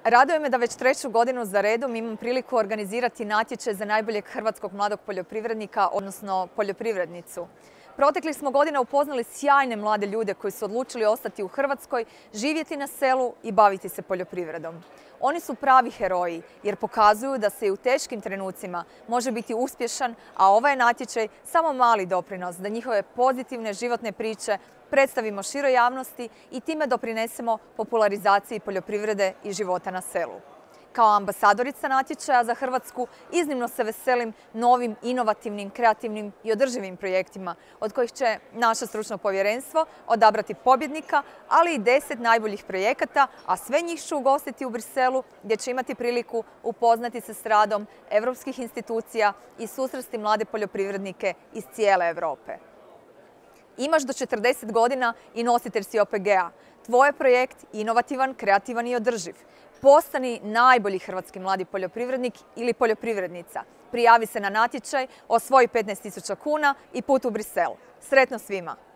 Raduje me da već treću godinu za redom imam priliku organizirati natječaj za najboljeg hrvatskog mladog poljoprivrednika, odnosno poljoprivrednicu. Proteklih smo godina upoznali sjajne mlade ljude koji su odlučili ostati u Hrvatskoj, živjeti na selu i baviti se poljoprivredom. Oni su pravi heroji jer pokazuju da se i u teškim trenucima može biti uspješan, a ovaj je natječaj samo mali doprinos da njihove pozitivne životne priče predstavimo široj javnosti i time doprinesemo popularizaciji poljoprivrede i života na selu. Kao ambasadorica natječaja za Hrvatsku iznimno se veselim novim, inovativnim, kreativnim i održivim projektima od kojih će naše stručno povjerenstvo odabrati pobjednika, ali i 10 najboljih projekata, a sve njih ću ugostiti u Briselu gdje će imati priliku upoznati se s radom europskih institucija i susresti mlade poljoprivrednike iz cijele Europe. Imaš do 40 godina i nositelj si OPG-a. Tvoj je projekt inovativan, kreativan i održiv. Postani najbolji hrvatski mladi poljoprivrednik ili poljoprivrednica. Prijavi se na natječaj, osvoji 15.000 kuna i put u Brisel. Sretno svima!